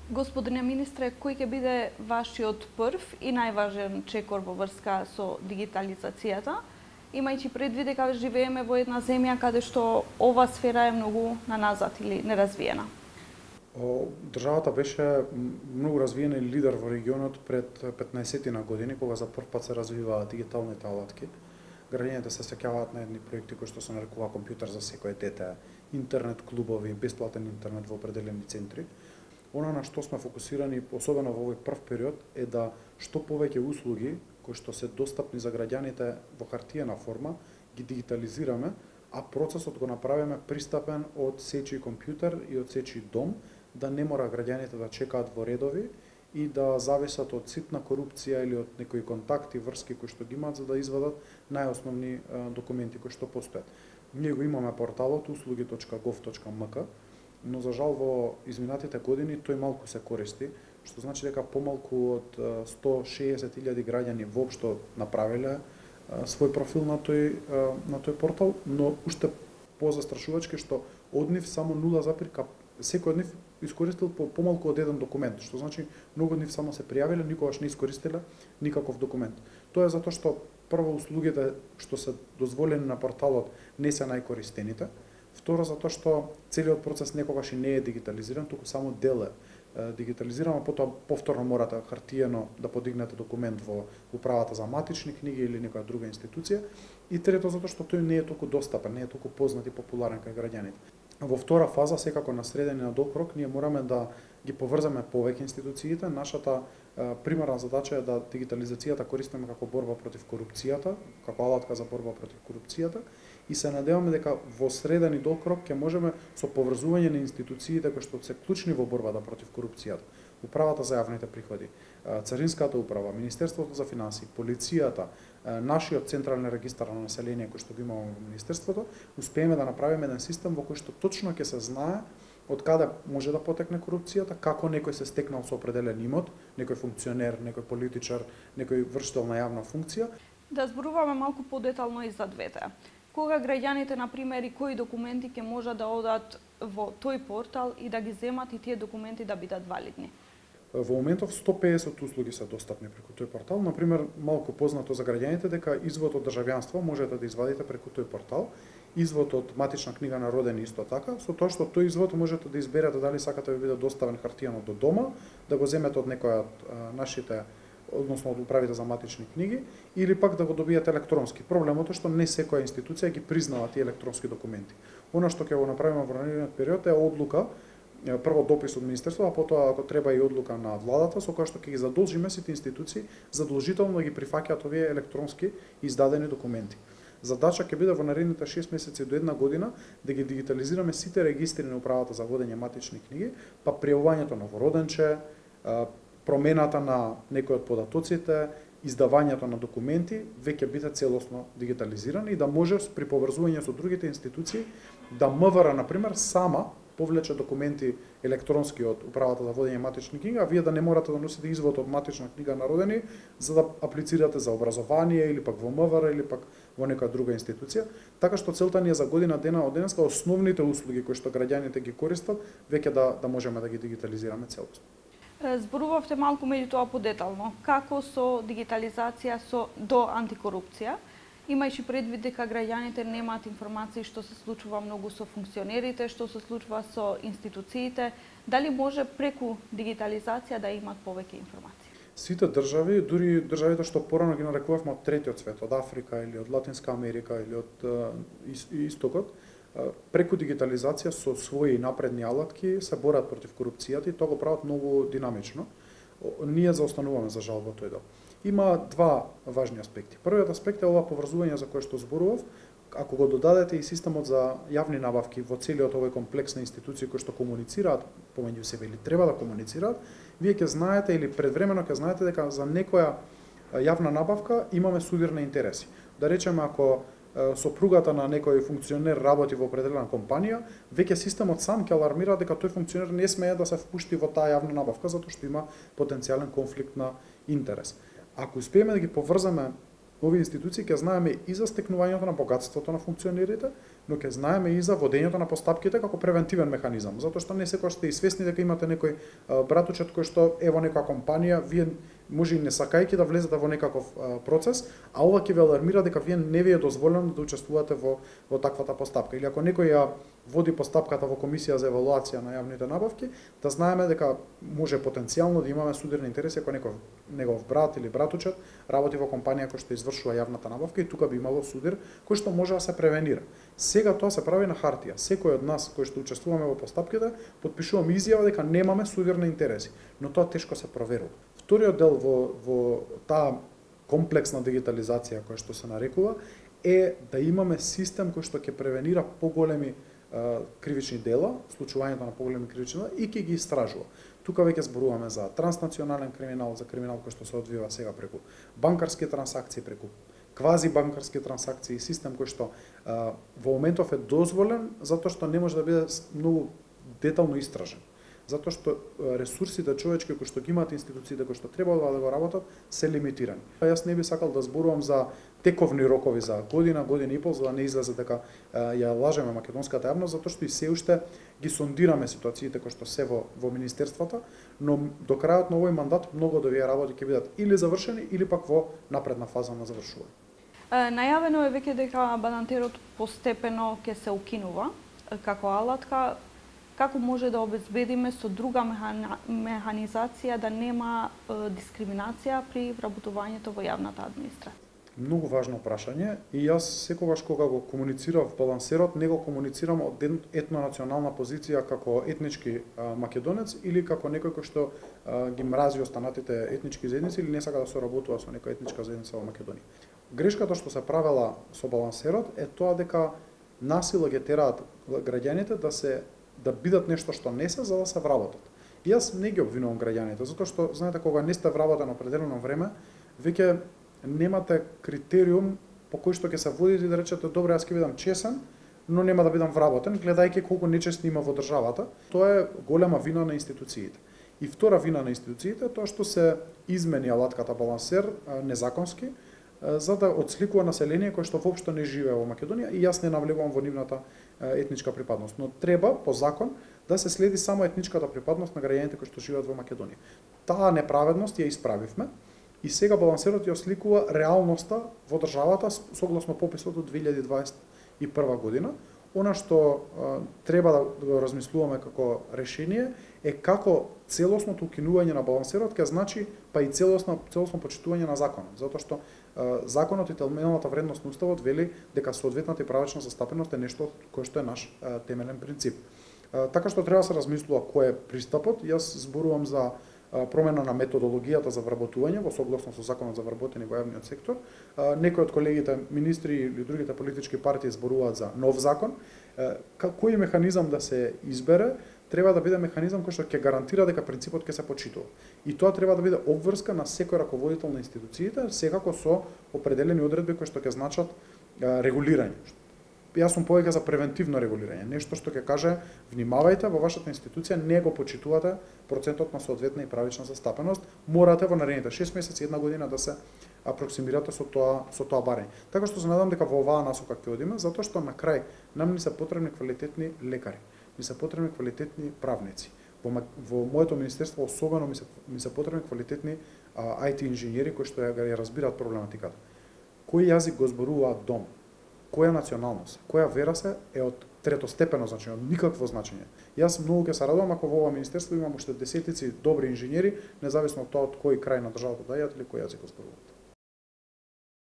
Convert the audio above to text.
Господине министре, кој ќе биде вашиот прв и најважен чекор во врска со дигитализацијата, имајќи предвид дека живееме во една земја каде што ова сфера е многу наназад или неразвиена? Државата беше многу развиена и лидер во регионот пред 15 години, кога за прв пат се развиваа дигиталните алатки. Граѓаните се сеќаваат на едни проекти кои што се нарекува компјутер за секое дете, интернет клубови, бесплатен интернет во определени центри. Она на што сме фокусирани, особено во овој прв период, е да што повеќе услуги кои што се достапни за граѓаните во хартиена форма ги дигитализираме, а процесот го направиме пристапен од сечи компјутер и од сечи дом, да не мора граѓаните да чекаат во редови и да зависат од ситна корупција или од некои контакти, врски кои што ги имаат за да извадат најосновни документи кои што постојат. Ние го имаме порталот услуги.gov.mk, но за жал во изминатите години тој малку се користи, што значи дека помалку од 160.000 граѓани воопшто направиле свој профил на тој портал, но уште позастрашувачки што од нив само 0, секој од нив искористил помалку од еден документ, што значи многу од нив само се пријавиле, никогаш не искористиле никаков документ. Тоа е затоа што прво услугите што се дозволени на порталот не се најкористените, второ затоа што целиот процес некогаш и не е дигитализиран, туку само дел е дигитализирано, потоа повторно морате хартиено да подигнете документ во управата за матични книги или некоја друга институција, и трето затоа што тој не е толку достапен, не е толку познат и популарен кај граѓаните. Во втора фаза, секако на среден и на долг рок, ние мораме да ги поврзаме повеќе институциите. Нашата примарна задача е да дигитализацијата користиме како борба против корупцијата, како алатка за борба против корупцијата, и се надеваме дека во среден и долг рок ќе можеме со поврзување на институциите кои што се клучни во борбата против корупцијата, Управата за јавните приходи, Царинската управа, Министерството за финансии, полицијата, нашиот централен регистар на население кој што го имаме во Министерството, успееме да направиме еден систем во кој што точно ќе се знае од каде може да потекне корупцијата, како некој се стекнал со определен имот, некој функционер, некој политичар, некој вршител на јавна функција. Да зборуваме малку подетално и за двете. Кога граѓаните, например, и кои документи ќе можат да одат во тој портал и да ги земат и тие документи да бидат валидни? Во моментов 150 услуги се достапни преку тој портал. Например, малку познато за граѓаните дека извод од државјанство можете да извадите преку тој портал. Извод од матична книга на родени исто така, со тоа што тој извод можете да изберете дали сакате да ви биде доставен хартијано до дома, да го земете од некоја од нашите, односно од управите за матични книги, или пак да го добиете електронски. Проблемот е што не секоја институција ги признава тие електронски документи. Она што ќе го направиме во наредниот период е одлука, прво допис од Министерството, а потоа ако треба и одлука на владата, со која што ќе ги задолжиме сите институции задолжително да ги прифаќаат овие електронски издадени документи. Задача ќе биде во наредните 6 месеци до 1 година да ги дигитализираме сите регистри на управата за водење матични книги, па пријавувањето на вороденче, промената на некои од податоците, издавањето на документи веќе биде целосно дигитализирани и да може при поврзување со другите институции да МВР, например, сама повлече документи електронски од управата за водење матични книги, а вие да не морате да носите извод од матична книга на родени за да аплицирате за образование или пак во МВР или пак во некоја друга институција. Така што целта ни е за година дена од денеска основните услуги кои што граѓаните ги користат веќе да можеме да ги дигитализираме целосно. Зборувавте малку меѓутоа подетално. Како со дигитализација до антикорупција, имајќи предвид дека граѓаните немаат информации што се случува многу со функционерите, што се случува со институциите, дали може преку дигитализација да имат повеќе информации? Сите држави, дури државите што порано ги нарекувавме од третиот свет, од Африка или од Латинска Америка или од Истокот, преку дигитализација со своји напредни алатки се борат против корупцијата и тоа го прават многу динамично. Ние заостануваме за жал во тој дел. Има два важни аспекти. Првиот аспект е ова поврзување за кое што зборував. Ако го додадете и системот за јавни набавки во целиот овој комплекс на институции кои што комуницираат помеѓу себе или треба да комуницираат, вие ќе знаете или предвремено ќе знаете дека за некоја јавна набавка имаме судирни интереси. Да речеме, ако сопругата на некој функционер работи во определена компанија, веќе системот сам ќе алармира дека тој функционер не смее да се впушти во таа јавна набавка затоа што има потенцијален конфликт на интерес. Ако успееме да ги поврзаме овие институции, ќе знаеме и за стекнувањето на богатството на функционерите, но ќе знаеме и за водењето на постапките како превентивен механизам, затоа што не секогаш сте и свесни дека имате некој братучет кој што е во некоја компанија, вие може и не сакајќи да влезете во некаков процес, а ова ќе ве алармира дека вие не ви е дозволено да учествувате во таквата постапка. Или ако некој ја води постапката во комисија за евалуација на јавните набавки, да знаеме дека може потенцијално да имаме судирни интереси ако некој негов брат или братучет работи во компанија која што извршува јавната набавка и тука би имало судир кој што може да се превенира. Сега тоа се прави на хартија. Секој од нас кој што учествуваме во постапките потпишуваме изјава дека немаме судирни интереси, но тоа тешко се проверува. Вториот дел во таа комплексна дигитализација која што се нарекува е да имаме систем кој што ќе превенира поголеми кривични дела, случувањето на поголеми кривични дела и ќе ги истражува. Тука веќе зборуваме за транснационален криминал, за криминал кој што се одвива сега преку банкарски трансакции, преку квази банкарски трансакции, систем кој што во моментов е дозволен затоа што не може да биде многу детално истражен. Затоа што ресурсите човечки кои што ги имаат институциите кои што треба да го работат се лимитирани. Јас не би сакал да зборувам за тековни рокови за година, година и пол, за да не излезе дека ја лажеме македонската јавност, затоа што и се уште ги сондираме ситуациите кои што се во министерствата, но до крајот на овој мандат многу од овие работи ќе бидат или завршени или пак во напредна фаза на завршување. Најавено е веќе дека банантерот постепено ќе се укинува како алатка. Како може да обезбедиме со друга механизација да нема дискриминација при вработувањето во јавната администрација? Многу важно прашање и јас секогаш кога го комуницирав балансерот, не го комуницирам од етнонационална позиција како етнички македонец или како некој кој што ги мрази останатите етнички заедници или не сака да соработува со некоја етничка заедница во Македонија. Грешката што се правела со балансерот е тоа дека насила ги тераат граѓаните да бидат нешто што не се, за да се вработат. И јас не ги обвинувам граѓаните, затоа што, знаете, кога не сте вработен определено време, веќе немате критериум по кој што ќе се водите и да речете, добре, јас ќе бидам чесен, но нема да бидам вработен, гледајќи колку нечестни има во државата. Тоа е голема вина на институциите. И втора вина на институциите е тоа што се измени алатката балансер незаконски, за да отсликува население кое што воопшто не живее во Македонија и јас не навлегувам во нивната етничка припадност, но треба по закон да се следи само етничката припадност на граѓаните кои што живеат во Македонија. Таа неправедност ја исправивме и сега балансерот ја осликува реалноста во државата согласно пописот од 2021 година. Она што треба да го размислуваме како решение е како целосното укинување на балансерот ќе значи па и целосно почитување на законот, затоа што законот и темелната вредност на уставот вели дека соодветната и правачна застапеност е нешто кое што е наш темелен принцип. Така што треба да се размислува кој е пристапот. Јас зборувам за промена на методологијата за вработување во согласно со законот за вработени во јавниот сектор. Некои од колегите министри или другите политички партии зборуваат за нов закон. Кој механизам да се избере, треба да биде механизам кој што ќе гарантира дека принципот ќе се почитува. И тоа треба да биде обврска на секој раководител на институциите, секако со определени одредби кои што ќе значат регулирање. Јас сум повеќе за превентивно регулирање, нешто што ќе каже внимавајте, во вашата институција не го почитувате процентот на соодветна и правична застапеност, морате во наредните 6 месеци, една година да се апроксимирате со тоа барање. Така што се надам дека во оваа насока ќе одиме, затоа што на крај нам ни се потребни квалитетни лекари, ни се потребни квалитетни правници. Во моето министерство особено ми се потребни квалитетни IT инженери кои што ја разбираат проблематиката. Кој јазик го зборуваат дом? Која националност, која вера се е од третостепено значење, од никакво значење. Јас многу ќе се радувам ако во ова министерство имам уште десетици добри инженери, независно од тоа од кој крај на државата дајат или кој јазик го зборуваат.